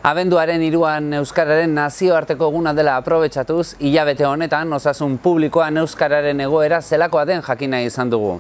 Abenduaren 3an Euskararen nazioarteko eguna dela aprobetxatuz, hilabete honetan osasun publikoan euskararen egoera zelakoa den jakin nahi izan dugu.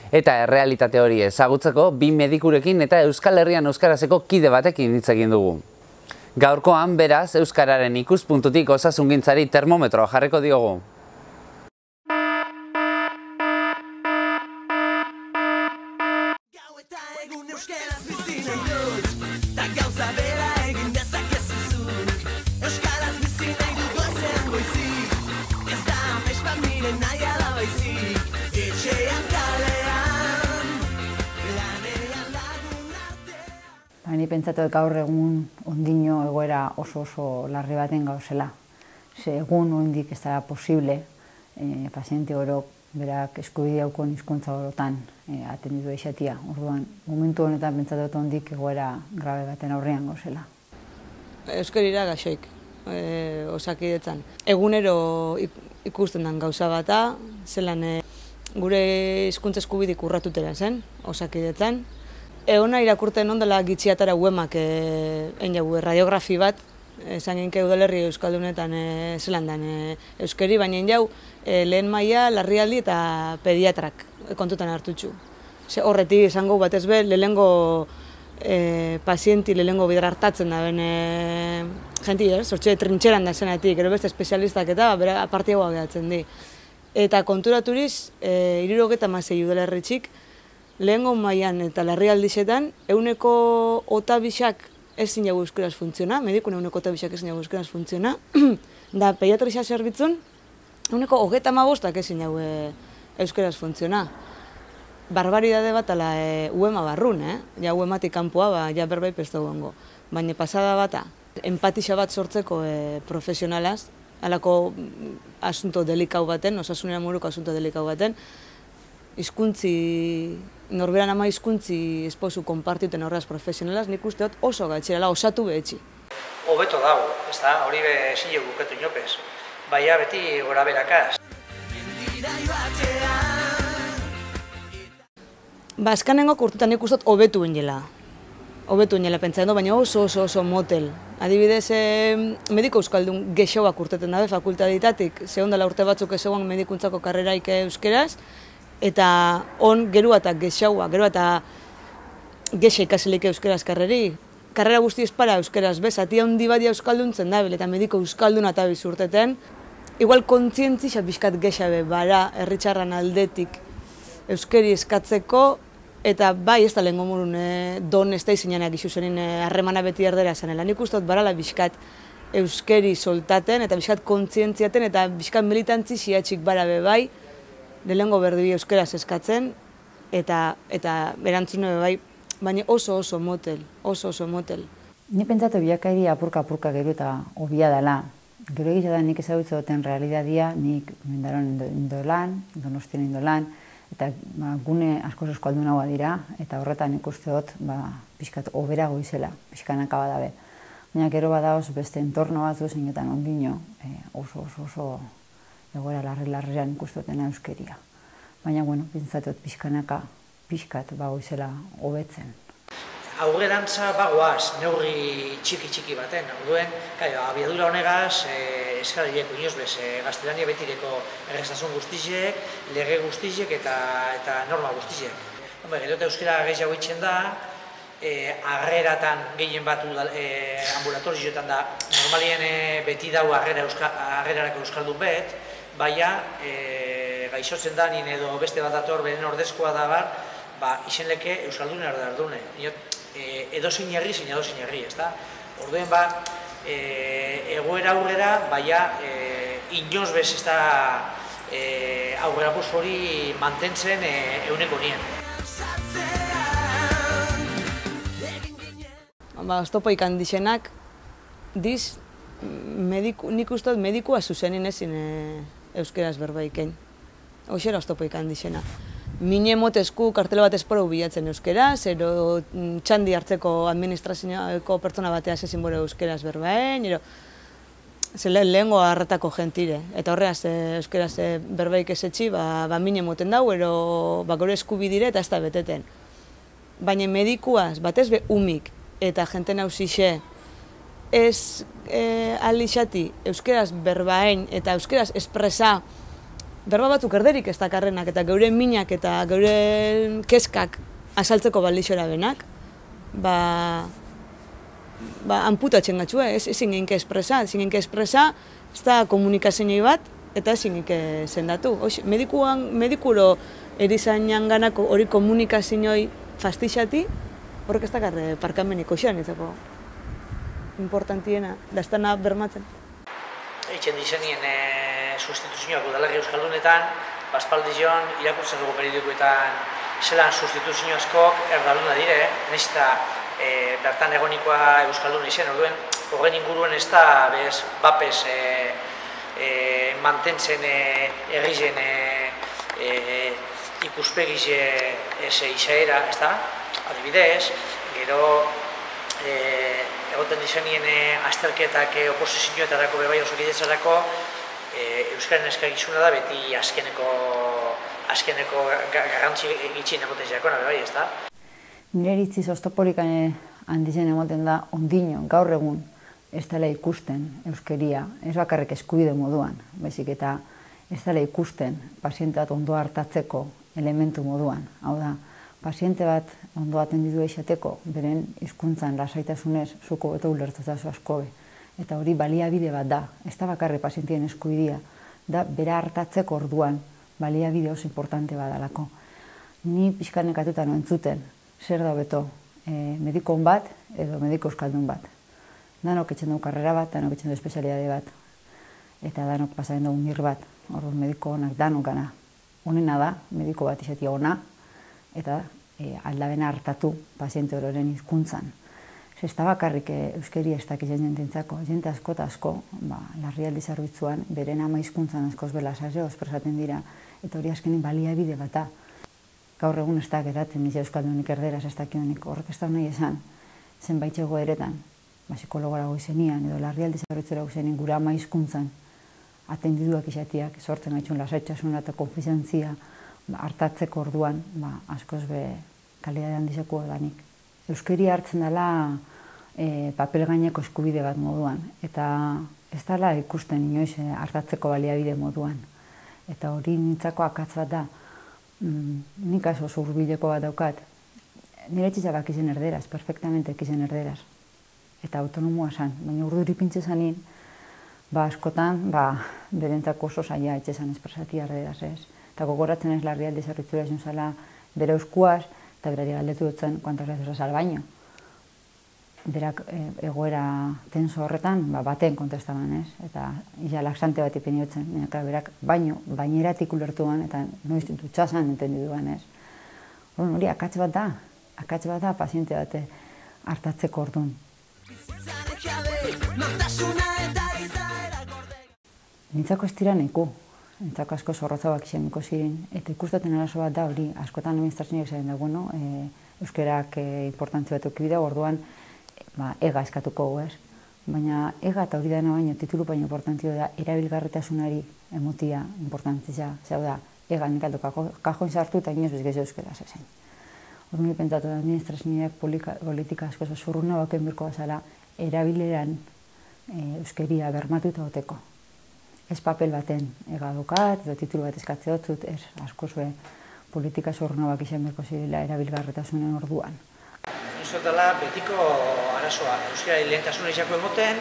Eta errealitate hori ezagutzeko, bi medikurekin eta Euskal Herrian euskarazeko kide batekin hitz egin dugu. Gaurkoan, beraz, euskararen ikuspuntutik osasungintzari termometroa jarriko diogu. Ni pentsatu gaur egun ondino egoera oso larri baten gauzela. Ze egun oraindik ez da posible paziente orok berak eskubidea daukan hizkuntza orotan atenditu izatea. Orduan, momentu honetan pentsatu dut ondik egoera grabe baten aurrean gauzela. Euskarira gaixoik, Osakidetzan. Egunero ikusten den gauza bata, zelan gure hizkuntza eskubidik urratutera zen, Osakidetzan. Eona irakurten ondela gitxiatara uemak radiografi bat, esan ginke udalerri euskaldunetan zelan den euskeri, baina jau lehen maila, larrialdi eta pediatrak kontutan hartutxu. Horretik esango batez be, lehengo pazienti lehengo bidera hartatzen da ben jenti, sortxe trintxeran da zenatik, gero beste espezialistak eta apartiagoa gehatzen di. Eta konturaturiz, 76 udalerritxik, lehengo mailan eta larrialdixetan, euneko otabixak ezin jau euskaraz funtziona, medikun euneko otabixak ezin jau euskaraz funtziona, da pediatrixa zerbitzun, euneko 35 ezin jau euskaraz funtziona. Barbaridade bat ala uema barrun, ja uematik kanpoa, ja berbai pestu gongo. Baina pasada bata, empatixa bat sortzeko profesionalaz, alako asunto delikau baten, osasunera moruko asunto delikau baten, norberan ama hizkuntzi esposu konpartiuten horraz profesionalaz, nik uste dut oso gatxerala, osatu behetxi. Hobeto dago, ez da, hori ezin jo buketu inopez, baina beti gora berakaz. Azkanengo urtetan nik uste dut hobetu inela. Hobetu inela pentsatzen du, baina oso motel. Adibidez, mediko euskaldun gexoak urteten dabe fakultaditatik, zehondela urte batzuk ezegoan medikuntzako karreraik euskeraz, eta on gero eta gexaua, gero eta gexa ikasilik euskeraz karreri. Karrera guzti espara euskeraz bez, atia handi badia euskalduntzen dabil, eta mediko euskalduna eta bizurteten. Igual kontzientzia bizkat gexa be, bara, herritxarran aldetik euskeri eskatzeko, eta bai ez da lehen gomurun don ez da izinenak izu zenin harremana beti erdera zanela. Nik uste dut barala bizkat euskeri soltaten, eta bizkat kontzientziaten, eta bizkat militantzi ziatxik bara be bai, lehengo berdi euskeraz eskatzen, eta erantzune bai, baina oso motel, oso motel. Ni pentsatu bilakairi apurka gero eta obia dela. Gero egitea da nik ezagutze duten realidadia, nik mendaron indolan, donostien indolan, eta gune askoz euskaldunagoa dira, eta horretan ikuste dut pixkat oberago izela, pixkanaka badabe. Baina gero badagoz beste entorno batzu zeinetan ondino, oso egoera larrian ikustotena euskeria. Baina, pentsatut pixkanaka, pixkat izela hobetzen. Aurrerantza bagoaz, neurri txiki baten, orduen, abiadura honegaz, eskarileko inoz bez, gaztelania betireko errezasun guztizek, lege guztizek eta norma guztizek. Gero eta euskera gehiago itxen da, arreratan gehien bat ambulatorizioetan da, normalien beti dau arrerarako euskaldun bet, baina gaixotzen da nien edo beste bat dator beren ordezkoa da bar, izenleke euskaldun erdardune. Edozin herri, zein edozin herri, ez da? Orduen egoera aurrera, baina inoz bez ez da aurrera bus hori mantentzen euneko nien. Oztopo ikandixenak, diz, nik uste dut medikua zuzenin ezin euskeraz berbaikein. Hoxera oztopo ikandixena. Mine motezku kartela bat esporo bilatzen euskeraz, ero txandi hartzeko administrazioako pertsona batea ezin bore euskeraz berbaen, lehengo harratako gentire. Eta horreaz euskeraz berbaik ezetxi, mine moten dau, ero gore eskubidire eta ez da beteten. Baina medikuaz, batez be umik, eta jente nauzixe ez alixati euskeraz berbaen eta euskeraz espresa berba batzuk erderik ez dakarrenak eta geure minak eta geure keskak asaltzeko balixora benak, amputatzen gatxua, ezin genke espresa, ez da komunikazio bat eta ezin genke zendatu. Medikuro erizainan ganako hori komunikazioi fastixati, horrek ez dakarre parkameniko xean izako importantiena, da ez dana bermatzen. Eitzen dizenien sustituzioak udalari euskaldunetan, baspaldizion irakurtzen dugu periodikoetan zelan sustituzio askok erdaluna dire, nahiz eta bertan egonikoa euskalduna izen, orduen horren inguruen ez da bapes mantentzen errizen ikuspegiz izaera, ez da? Adibidez, gero egoten dizenien azterketak oposizioetarako bebai osokidetzarako euskaren eskagizuna da beti azkeneko garrantzi gitxin emoten zeakona bebai, ez da? Nire iritziz oztoporik handizen emoten da ondino, gaur egun ez dela ikusten euskeria, ez bakarrik eskubide moduan, baizik eta ez dela ikusten paziente bat ondo hartatzeko elementu moduan. Hau da, paziente bat ondo atendidu izateko, beren hizkuntzan lasaitasunez zuko beto ulertuta zu askobe. Eta hori baliabide bat da, ez da bakarrik pazientien eskubidea, da bera hartatzeko orduan baliabide oso importante badalako. Ni pixka nekatuta no entzuten, zer da beto, mediko on bat edo mediko euskaldun bat. Danok etxen dugu karrera bat, danok etxen dugu espezialidade bat, eta danok pasaren dugu mir bat, orduan mediko onak danok gana. Honena da, mediko bat izatea ona, eta aldabena hartatu paziente ororen hizkuntzan. Ez da bakarrik euskeri ez dakizen jententzako, jente asko eta asko, larrialdi zerbitzuan, beren ama hizkuntzan askoz belasazio espresaten dira, eta hori azkenin baliabide bat da. Gaur egun ez da geratzen, nire euskaldunik erderaz ez dakionik, horrek ez da nahi esan, zenbait egoeretan, psikologora goizenian edo larrialdi zerbitzura goizenien gure ama hizkuntzan atendiduak izatiak sortzen gaitxun lasaitasuna eta konfiantzia hartatzeko orduan askoz be kalidade handizeko danik. Euskeri hartzen dela papel gaineko eskubide bat moduan eta ez dela ikusten inoiz hartatzeko baliabide moduan. Eta hori nintzako akatz bat da, nik aso zurbileko bat daukat, nire txizabak izen erderaz, perfectamente izen erderaz. Eta autonomoa zan, baina urduri pintxe zanin, askotan, berentzako oso zaila etxezan espresati erderaz ez. Eta gogoratzen ez larrialdi zerritzura izan zala bere euskuaz, eta berari galdetu dutzen kuantas veces has al baño. Berak egoera tenso horretan, baten kontestaban ez, eta ia laxante bat ipiniotzen, berak baineratik ulertuan, eta noiz dutxasan entendiduan ez. Hori akats bat da, paziente bat hartatzeko orduan. Nintzako ez dira neku, nintzako asko zorrotzabak izaniko ziren, eta ikustaten arazo bat da hori, askotan administrazioak zaren da, euskerak importantzia bat eukibida, orduan ega eskatuko ez. Baina ega eta hori dena baino titulu baino importantzia da erabilgarritasunari emotia importantzia, zau da, ega nik aldo kajoin sartu eta inoz bezgez euskera zezen. Orduan pentsatu da administrazioak politika asko zurruna baken birko bazala erabileran euskeria bermatuta goteko. Ez papel baten ega dokat, edo titulu bat eskatze hotzut, ez asko zuen politika zurruna bak izan berko zirela erabilgarretasunen orduan. Uzot dela betiko arazoa, euskera lehentasuna izako emoten,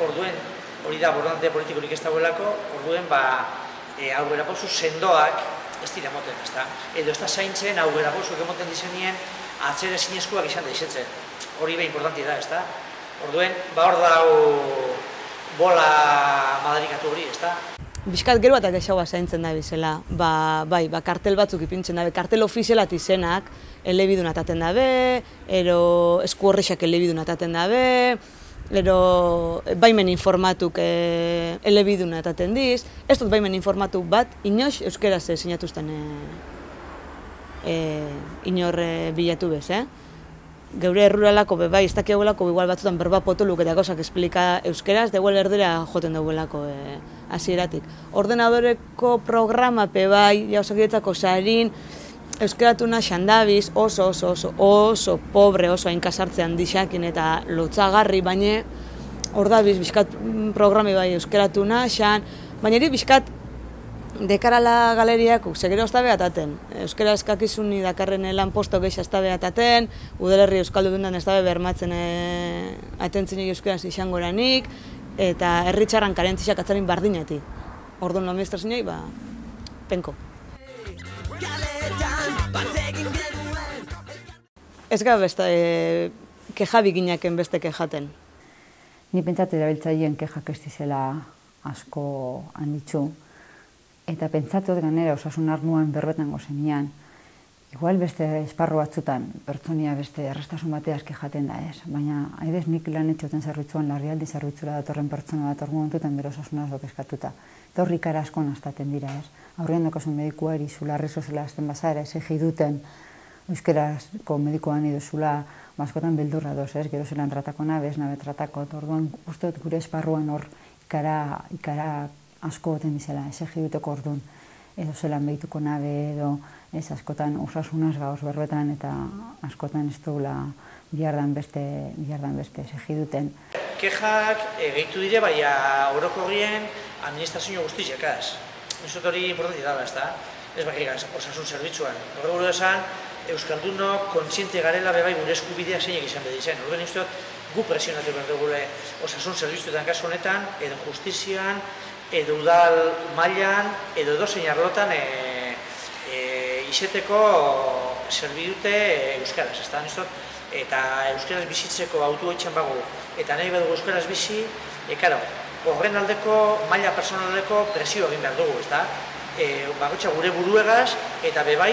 orduen hori da borondate politikorik ez dagoelako, orduen aurrera pauzu sendoak ez dira emoten, ez da? Edo ez da zaintzen aurrera pauzuk emoten dizenien atzere zinezkoak izan da izetzen. Hori behin importantia da, ez da? Orduen, hor dau bola madarikatu hori, ez da? Bizkat gero eta gexaua zaintzen da bizela, kartel batzuk ipintzen dabe, kartel ofizialat izenak elebidun ataten dabe, ero esku horrexak elebidun ataten dabe, ero baimen informatuk elebidun ataten diz, ez dut baimen informatuk bat, inoz euskeraz sinatuzten inor bilatu bez, Geure erruralako bai, ez dakiagulako igual batzutan berba potoluk eta gauzak esplika euskeraz, da igual erdera joten duguelako hasieratik. Ordenadoreko programa bai, jauzakidetzako sarin, euskeratuna xandabiz, oso pobre, oso hainkasartzean dixakin eta lotzagarri, baina hor da bizkat programi bai euskeratuna, xan, baina eri bizkat dekarala galeriak segero ez da behataten. Euskera eskakizuni dakarren lan posto gehiago ez da behataten, udalerri euskaldu dundan ez da bermatzen atentzinik euskaraz izango eranik, eta herritxarran karentzizak atzarin bardineti. Orduan administrazioei, penko. Ez gara beste kejabikinaken beste kejaten. Ni pentsatu erabiltzaileen kejak ez dizela asko handitzu, eta pentsatu ganera osasun arnuan berbetan gozenian, igual beste esparru batzutan, pertsonia beste errestasun bateaz kejaten da ez, baina aidez nik lan etxoten zerbitzuan larrialdi zerbitzura datorren pertsona bat ordu montutan bere osasunaz eskatuta. Eta horri ikara asko naztaten dira ez. Aurrean dakozen medikuari zularri zozela azten bazara, esegi duten euskerazko medikoan iduzula, askotan beldurra doz ez, gero zelan tratako nabez, nabe tratako, orduan uste dut gure esparruan hor ikara asko goten dizela, esegi duteko orduan, edo zelan behituko nabe, edo ez askotan osasunaz gauz berbetan, eta askotan ez dugula bihardan beste esegi duten. Kejak gehitu dire, baina orokorrien administrazio guztiekaz. Nizot hori importanti dala, ez da? Ez bakigaz, osasun zerbitzuan. Horrego esan, euskaldunok kontziente garela bebai gure eskubideak zeinek izan bedizen. Horren izan gu presionatu behar dugule osasun zerbitzuetan kasu honetan, edo justizian, edo udal mailan, edo edozein arlotan izeteko zerbidute euskaraz, ez da? Eta euskaraz bizitzeko autu etxan bagu, eta nahi badugu euskaraz bizi, horren aldeko, maila personaleko presio egin behar dugu, ez da? Bakotxa gure buruegaz, eta bebai,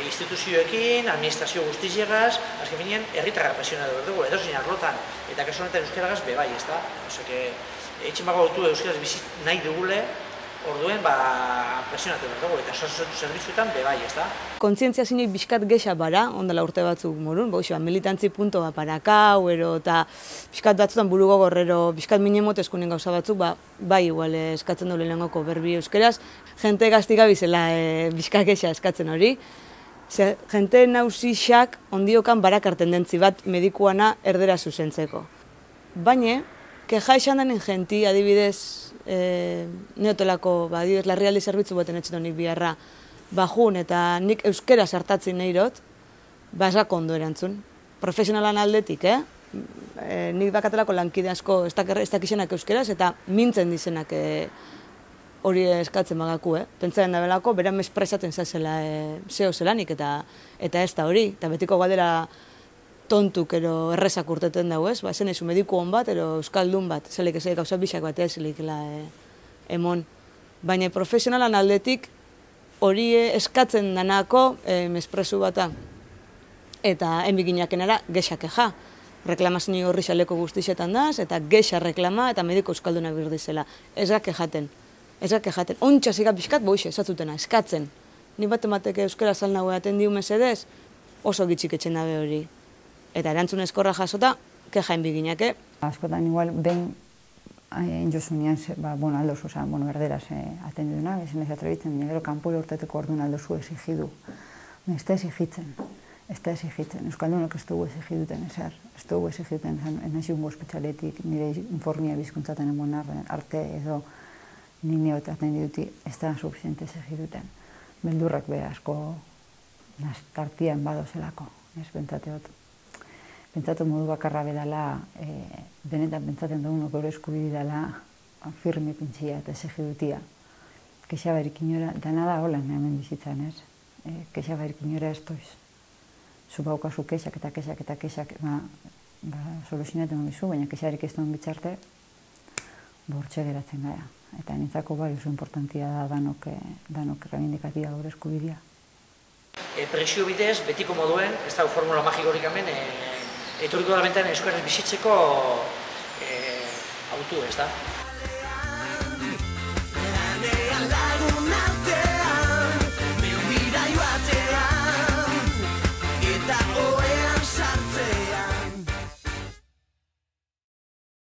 instituzioekin, administrazio guztiziegaz, azken finean, herritarra presionatu behar dugu, edozein arlotan, eta kasu honetan euskaragaz bebai, ez da? Etxen bago autu euskaraz bizi nahi dugule, orduen presionatu behar dugu, eta zerbitzuetan bebai, ez da? Kontzientzia zinik bizkat gexa bara, ondala urte batzuk morun, militantzi punto parakau, eta bizkat batzutan buru gogorrero, bizkat minemot eskunen gauza batzuk, bai igual eskatzen dole lehengoko berbi euskeraz, jente gaztika bizela bizkat gexa eskatzen hori. Jente nausixak ondiokan barakar tendentzi bat medikuana erdera zuzentzeko. Baina, keja esan denin jenti, adibidez, neotelako, adibidez, larrialdi zerbitzu baten etxetan nik biharra, bajun eta nik euskera sartatzen nahi dut, esako ondo erantzun. Profesionalan aldetik, nik bakatelako lankide asko ez dakixenak euskeraz eta mintzen dizenak hori eskatzen bagaku, Pentsaren da belako, beran mespresaten zazela zeo zelanik eta ez da hori, eta betiko gadera tontuk ero errezak urteten dago, ez? Zen ezu mediku hon bat, ero euskaldun bat, zelik ez gauza bisak bat zelikela emon. Baina profesionalan aldetik hori eskatzen danako mespresu bata. Eta enbigineakenara gexa keja. Reklamazio horri xaleko guztixetan daz, eta gexa reklama eta mediko euskalduna birdizela. Ez gak kejaten. Ez gak kejaten. Ontsa ziga bizkat boixe, esatzutena, eskatzen. Ni bat emateke euskara zalnago eaten diu mesedez, oso gitxik etxen dabe hori. Eta erantzun eskorra jasota, keja enbigineake. Askotan igual, behin enjosunean, aldozu, erderaz atendu duna, bezin ez atrebitzen, gero kanpoi urteteko orduan aldozu exigidu. Ez da exigitzen. Ez da exigitzen. Euskaldunok ez dugu exigiduten ezer. Ez dugu exigiduten, naziungo espetxaletik, nire informia bizkuntzaten emon arte edo nire otaten diduti, ez da suficiente exigiduten. Beldurrak beha asko tartian badozelako. Ez pentsatu modu bakarra bedala, benetan pentsaten dugunok gure eskubide dela firme pintxia eta exigidutia. Kexabarik inora, dana da holan hemen bizitzan, ez? Kexabarik inora ez toiz. Zu baukazu kexak eta kexak, soluzionaten bizu, baina kexarik ez duen bitxarte, bortxe geratzen gara. Eta nintzako bai oso importantia da danok reivindikatia gure eskubidea. Presio bidez, betiko moduen, ez da formula magikorik hemen, etorriko da bentan euskaraz bizitzeko autu, ez da?